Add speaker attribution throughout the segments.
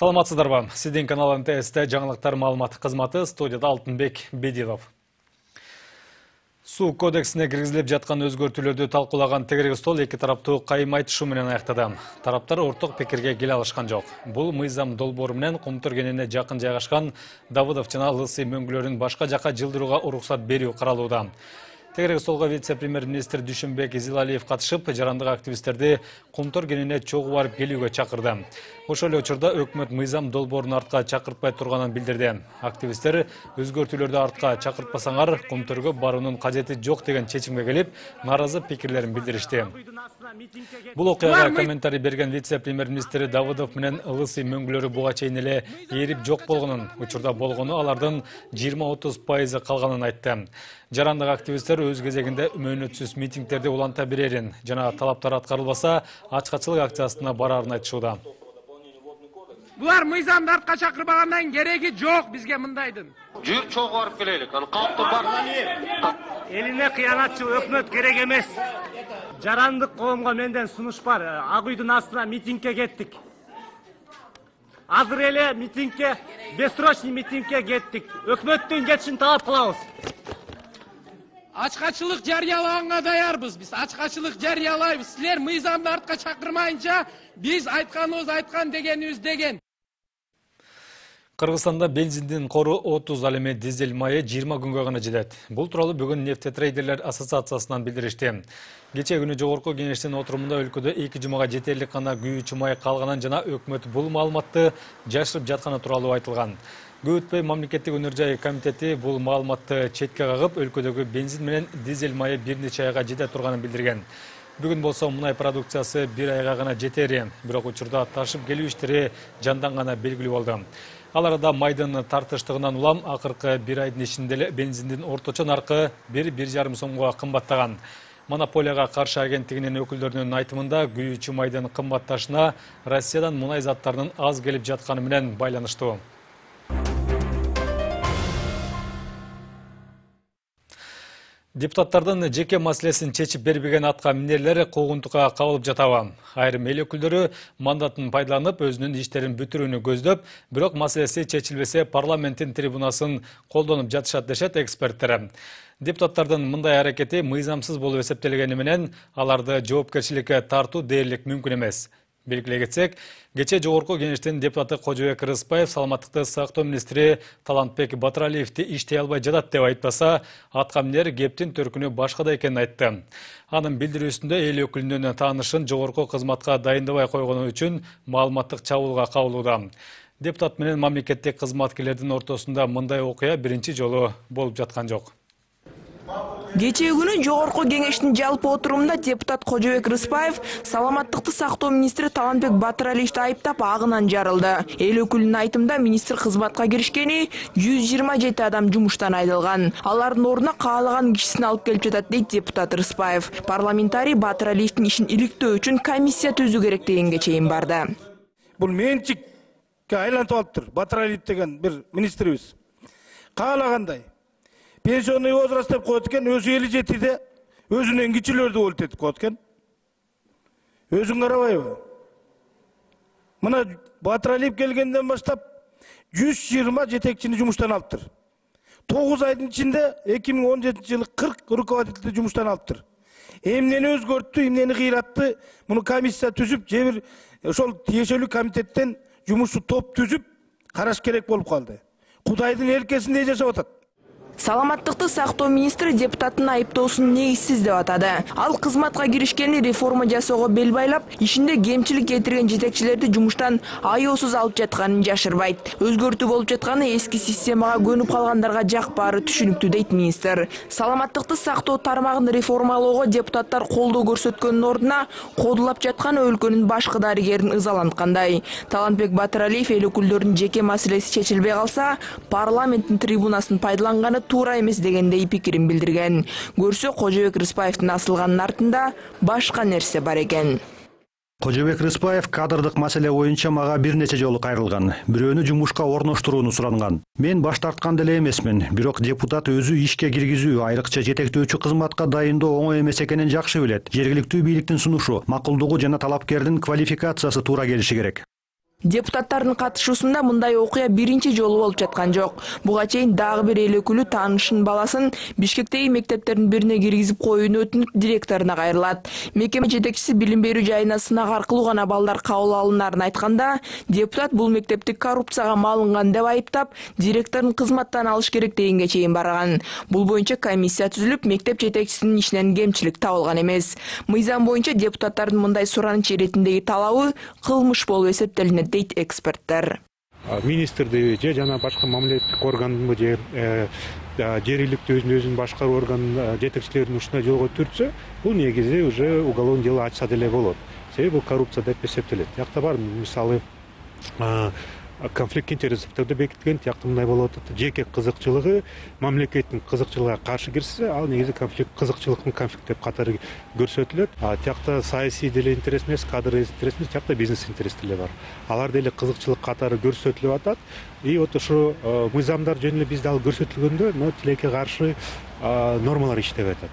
Speaker 1: Саламатсыздарбы? Сиздин канал НТС'те жаңылыктар маалымат кызматы, студияда Алтынбек Бедилов. Суу кодексине киргизилип жаткан өзгөртүүлөрдү талкуулаган тегерек стол эки тараптуу кайым айтышуу менен аяктады. Тараптар орток пикирге келе алышкан жок. Бул мыйзам долбоору менен Кумтөр кененине жакын жайгашкан Давыдов жана Лысый мөңгүлөрүн башка жакка жылдырууга уруксат берүү каралууда. Тегерек столго вице-премьер-министр Дүйшөнбек Изилалиев катышып, жарандык активисттерди Кумтөр кененине чогуу барып келүүгө чакырды. Ошол эле учурда өкмөт мыйзам долбоорун артка чакыртпай турганын билдирди. Активисттер өзгөртүүлөрдү артка чакыртпасаңар, Кумтөргө баруунун кажети жок деген чечимге келип, нааразы пикирлерин билдиришти. Бул окуяга комментарий берген вице-премьер-министр Давыдов менен Лысый мөңгүлөрү буга чейин эле ээрип жок болгонун, учурда болгону алардын 20-30% калганын айтты. Жарандык активисттер өз кезегинде мөөнөтсүз митингдерди уланта берерин жана талаптар аткарылбаса, ачкачылык акциясына барарын айтышууда.
Speaker 2: Булар мыйзамды артка чакырбагандан кереги жок бизге мындайдын.
Speaker 3: Жүр чогуу барып келелик. Аны калктын бар.
Speaker 4: Элине кыянатчы өкмөт керек эмес. Жарандык коомго менден сунуш бар. Ак үйдүн астына митингге кеттик. Азыр эле митингге, бессрочный митингге кеттик. Өкмөттүн кетишин талап кылабыз.
Speaker 2: Ачкачылык жарыялаганга даярбыз. Биз ачкачылык жарыялайбыз. Силер мыйзамды артка чакырмайынча биз айтканыбыз айткан дегенибиз деген.
Speaker 1: Кыргызстанда бензиндин кору 30, ал эми дизель майы 20 күнгө гана жетет. Бул тууралуу бүгүн нефтетрейдерлер ассоциациясынан билдиришти. Кечээ күнү жогорку кеңештин отурумунда өлкөдө 2 жумага жетерлик гана күйүүчү май калганын жана өкмөт бул маалыматты жашырып жатканы тууралуу айтылган. Көп өтпөй мамлекеттик өнөр жай комитети бул маалыматты четке кагып, өлкөдөгү бензин менен дизель майы бир нече айга жете турганын билдирген. Бүгүн болсо мунай продукциясы бир айга гана жетери, бирок учурда ташып келүү иштери жанданганы белгилүү болду. Ал арада майдын тартыштыгынан улам акыркы бир айдын ичинде эле бензиндин орточо наркы 1,5 сомго кымбаттаган. Монополияга каршы агенттигинин өкүлдөрүнүн айтымында күйүүчү майдын кымбатташына Россиядан мунай заттарынын аз келип жатканы менен байланыштуу. Депутаттардын жеке маселесин чечип бербеген атка минерлер куугунтукка кабылып жатабы. Айрым эл өкүлдөрү мандатын пайдаланып, өзүнүн иштерин бүтүрүүнү көздөп, бирок маселеси чечилбесе парламенттин трибунасын колдонуп жатышат дешет эксперттер. Депутаттардын мындай аракети мыйзамсыз болуп эсептелгени менен аларды жоопкерчиликке тартуу дээрлик мүмкүн эмес. Белгилей кетсек, кечээ жогорку кеңештин депутаты Кожобек Рыспаев саламаттыкты сактоо министри Талантбек Батыралиевди иштей албай жатат деп айтпаса, атка минер кептин төркүнү башкада экенин айтты. Анын билдирүүсүндө эл өкүлүнүн таанышын жогорку кызматка дайындабай койгону үчүн маалыматтык чабуулга кабылууда. Депутат менен мамлекеттик кызматкерлердин ортосунда мындай окуя биринчи жолу болуп жаткан жок.
Speaker 5: Кечээ күнү жогорку кеңештин жалпы отурумунда депутат Кожобек Рыспаев саламаттыкты сактоо министри Талантбек Батыралиевди айыптап агынан жарылды. Эл өкүлүнүн айтымында министр кызматка киришкени 127 адам жумуштан айдылган. Алардын ордуна каалаган кишисин алып келип жатат дейт депутат Рыспаев. Парламентарий Батыралиевдин ишин иликтөө үчүн комиссия түзүү керек дегенге чейин барды.
Speaker 6: Бул менчикке айлантып алыптыр. Батыралиев деген бир министрибиз. Каалагандай пенсионный возраст деп коет экен, өзү 57-де өзүнөн кичилерди болот этип коет экен. Өзүң карабайбы? Мына Батыралиев келгенден баштап 120 жетекчини жумуштан алыптыр. 9 айдын ичинде 2017-жылы 40 руководителди жумуштан алыптыр. Эмнени өзгөрттү, эмнени кыйратты? Муну комиссия түзүп, же бир ошол тиешелүү комитеттен жумушчу топ түзүп караш керек болуп калды. Кудайдын эркесинде жашап атат.
Speaker 5: Саламаттыкты сактоо министри депутаттын айыптоосун негизсиз деп атады. Ал кызматка киришкени реформа жасоого бел байлап, ишинде кемчилик кетирген жетекчилерди жумуштан аяосуз алып жатканын жашырбайт. Өзгөртүү болуп жатканы эски системага көнүп калгандарга жакпаары түшүнүктүү дейт министр. Саламаттыкты сактоо тармагын реформалоого депутаттар колдоо көрсөткөндүн ордуна кодулап жатканы өлкөнүн башкы дарыгерин ызаланткандай. Талантбек Батыралиев эл өкүлдөрүнүн жеке маселеси чечилбей калса, парламенттин трибунасын пайдаланганы туура эмес дегендей пикирин билдирген. Көрсө Кожобек Рыспаевдин асылганын артында башка нерсе бар экен.
Speaker 7: Кожобек Рыспаев кадрдык маселе боюнча мага бир нече жолу кайрылган. Бирөөнү жумушка орноштурууну суранган. Мен баш тарткан деле эмесмин, бирок депутат өзү ишке киргизүү, айрыкча жетектөөчү кызматка дайындоо оңой эмес экенин жакшы билет. Жергиликтүү бийликтин сунушу, макулдугу жана талапкердин квалификациясы туура келиши керек.
Speaker 5: Депутаттардын катышуусунда мындай окуя биринчи жолу болуп жаткан жок. Буга чейин дагы бир эл өкүлү таанышынын баласын Бишкектеги мектептердин бирине киргизип коюуну өтүнүп директоруна кайрылат. Мекеме жетекчиси билим берүү жайына сынак аркылуу гана балдар кабыл алынарын айтканда, депутат бул мектепти коррупцияга малынган деп айыптап, директорун кызматтан алыш керек дегенге чейин барган. Бул боюнча комиссия түзүлүп, мектеп жетекчисинин ишинен кемчилик табылган эмес. Мыйзам боюнча депутаттардын мындай сураныч иретиндеги талабы кылмыш болуп эсептелинет дейт эксперттер.
Speaker 8: Министрди же жана башка мамлекеттик органды же жергиликтүү өзүнүн башкаруу органынын жетекчилерин ушундай жолго түртсө, бул негизи уже уголовный дело ачса деле болот. Себеби бул коррупция деп эсептелет. Тиякта бар мисалы конфликт интерестерди бекиткен, тиякта мындай болуп атат. Жеке кызыкчылыгы мамлекеттин кызыкчылыгына каршы кирсе, ал негизи кызыкчылыктын конфликт деп катары көрсөтүлөт. Тиякта саясий деле интерес эмес, кадр интерес эмес, тиякта бизнес интерес деле бар. Алар деле кызыкчылык катары көрсөтүлүп атат. И вот ушу мыйзамдар жөнүндө бизде ал көрсөтүлгөндө, но тилекке каршы нормалар иштеп атат.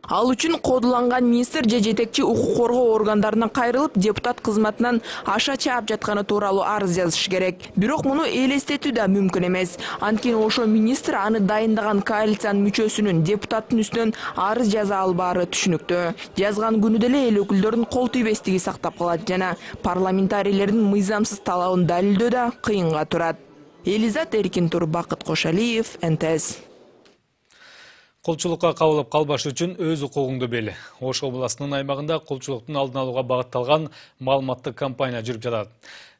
Speaker 5: Ал үчүн кодуланган министр же жетекчи укук коргоо органдарына кайрылып, депутат кызматынан аша чаап жатканы тууралуу арыз жазыш керек. Бирок муну элестетүү да мүмкүн эмес. Анткени ошо министр аны дайындаган коалициянын мүчөсүнүн депутаттын үстүнөн арыз жаза албаары түшүнүктүү. Жазган күнү деле эл өкүлдөрүнүн кол тийбестиги сактап калат жана парламентарийлердин мыйзамсыз талабын далилдөө да кыйынга турат. Элизат Эркинтур, Бакыт Кошалиев, НТС.
Speaker 1: Кулчулукка кабылып калбаш үчүн өз укугуңду бел. Ош областынын аймагында кулчулуктун алдын алууга багытталган маалыматтык кампания жүрүп жатат.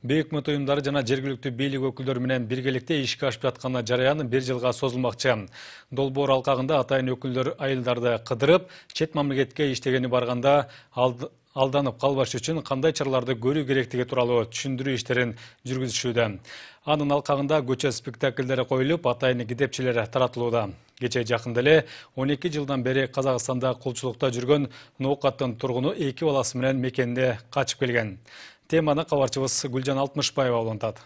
Speaker 1: Өкмөт уюмдары жана жергиликтүү бийлик өкүлдөрү менен биргеликте ишке ашып жаткан жарыян 1 жылга созулмакчы. Долбоор алкагында атайын өкүлдөр айылдарды кыдырып, чет мамлекетке иштегени барганда алданып калбаш үчүн кандай чараларды көрүү керектиги тууралуу түшүндүрүү иштерин жүргүзүшүүдө. Анын алкагында көчө спектакльдери коюлуп, атайын китепчелер таратылууда. Кече жакында эле 12 жылдан бери Казакстанда кулчулукта жүргөн Ноокаттын тургуну 2 баласы менен мекенде качып келген. Теманы кабарчыбыз Гүлжан Алтмышбаева улантат.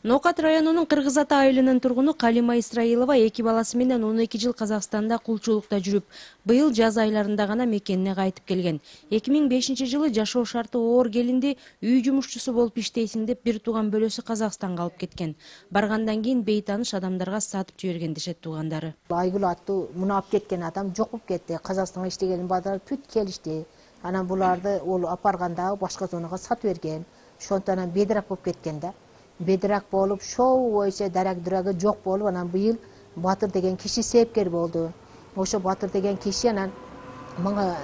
Speaker 9: Ноокат районунун Кыргыз Ата айылынын тургуну Калима Исраилова 2 баласы менен 12 жыл Казакстанда кулчулукта жүрүп, быйыл жаз айларында гана мекенине кайтып келген. 2005-жылы жашоо шарты оор келинди үй жумушчусу болуп иштейсиң деп бир тууган бөлөсү Казакстанга алып кеткен. Баргандан кийин бейтаныш адамдарга сатып жиберген дешет туугандары.
Speaker 10: Айгүл аттуу муну алып кеткен адам жокуп кетти. Казакстанга иштеген балдар бүт келишти. Анан буларды ол апарганда башка зонага сатып берген. Ошондон бедирак болуп кеткен да. Бедирак болуп, шоу боюнча дарак-дурагы жок болуп, анан быйыл Батыр деген киши себепкер болду. Ошо Батыр деген киши анан мага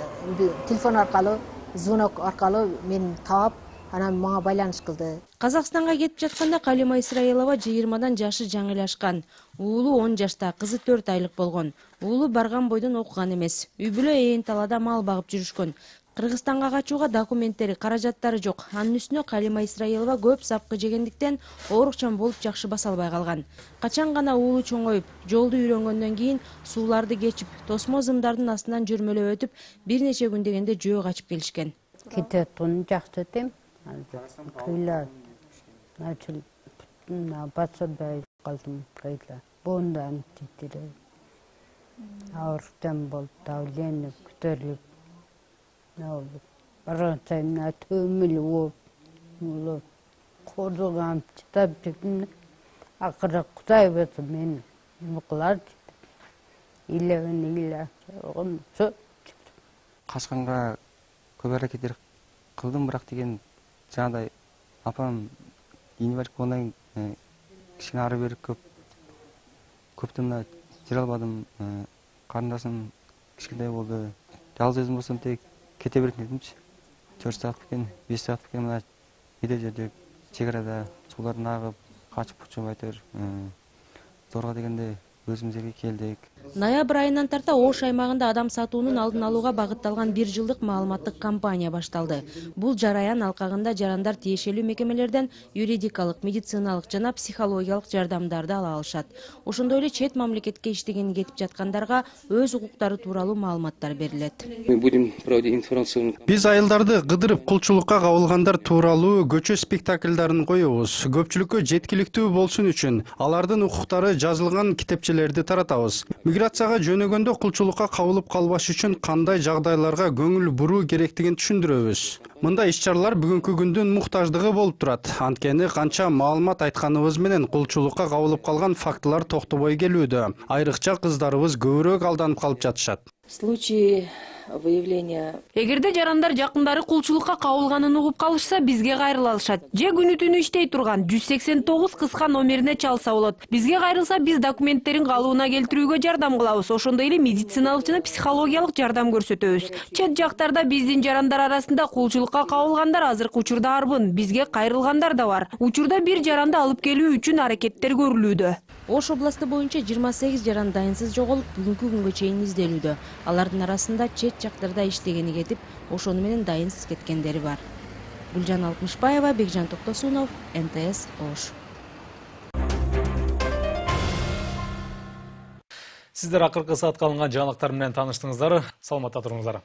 Speaker 10: телефон аркылуу, звонок аркылуу мени таап, анан мага байланыш кылды.
Speaker 9: Казакстанга кетип жатканда Калима Исраилова 20-дан жашы жаңылашкан. Уулу 10 жашта, кызы 4 айлык болгон. Уулу барган бойдон окуган эмес. Үй бүлө ээн талаада мал багып жүрүшкөн. Кыргызстанга качууга документтери, каражаттары жок. Анын үстүнө Калима Исраилова көп сапкы жегендиктен оорукчан болуп жакшы баса албай калган. Качан гана уулу чоңоюп, жолду үйрөнгөндөн кийин сууларды кечип, тосмо зымдардын астынан жүрмөлөп өтүп, бир нече күн дегенде жөө качып келишкен.
Speaker 11: Кететин жакшы этем. Кыйла. Начал бацабай калдым кыйла. Бондан титире. Ауртан болуп, давление көтөрүлүп. Баратайна төмүл болуп, кордугам чытап жүрдүм. Акыры Кудай болсо мен кылар илеген
Speaker 12: качканга көп аракеттер кылдым, бирок деген жагандай апам инвалид болгондон кийин кичине ары бери көптөн мына жүрө албадым. Карындашым кичине болду. Жалгыз өзүм болсом тек кете беретін едімші. 4 саат кеткен, 5 саат кеткен, мына едел жерде чекарада сулардын агып, качып учуп айтыр. Зорго дегенде өзүбүзгө келдик.
Speaker 9: Ноябрь айынан тарта Ош аймагында адам сатуунун алдын алууга багытталган 1 жылдык маалыматтык кампания башталды. Бул жараян алкагында жарандар тиешелүү мекемелерден юридикалык, медициналык жана психологиялык жардамдарды ала алышат. Ошондой эле чет мамлекетке иштегени кетип жаткандарга өз укуктары тууралуу маалыматтар берилет.
Speaker 13: Биз айылдарды кыдырып кулчулукка кабылгандар тууралуу көчө спектакльдарын коебуз. Көпчүлүккө жеткиликтүү болсун үчүн алардын укуктары жазылган китепчелерди таратабыз. Миграцияга жөнөгөндө кулчулукка кабылып калбаш үчүн кандай жагдайларга көңүл буруу керектигин түшүндүрөбүз. Мындай иш-чаралар бүгүнкү күндүн муктаждыгы болуп турат. Анткени канча маалымат айтканыбыз менен кулчулукка кабылып калган фактылар токтобой келүүдө. Айрыкча кыздарыбыз көбүрөөк алданып калып жатышат.
Speaker 14: Случаи выявления.
Speaker 5: Эгерде жарандар жакындары кулчулукка кабылганын угуп калышса, бизге кайрыла алышат. Же күнү түнү иштей турган 189 кыска номерине чалса болот. Бизге кайрылса, биз документтерин калыбына келтирүүгө жардам кылабыз. Ошондой эле медициналык жана психологиялык жардам көрсөтөбүз. Чет жактарда биздин жарандар арасында кулчулукка кабылгандар азыркы учурда арбын. Бизге кайрылгандар да бар. Учурда бир жаранды алып келүү үчүн аракеттер көрүлүүдө.
Speaker 9: Ош областы боюнча 28 жаран дайынсыз жоголуп, бүгүнкү күнгө чейин изделүүдө. Алардын арасында чет жактарда иштегени кетип, ошону менен дайынсыз кеткендери бар. Гүлжан Алтмышбаева, Бекжан Токтосунов, НТС Ош.
Speaker 1: Сиздер акыркы саатка алынган жаңылыктар менен тааныштыңыздар. Саламатта туруңуздар.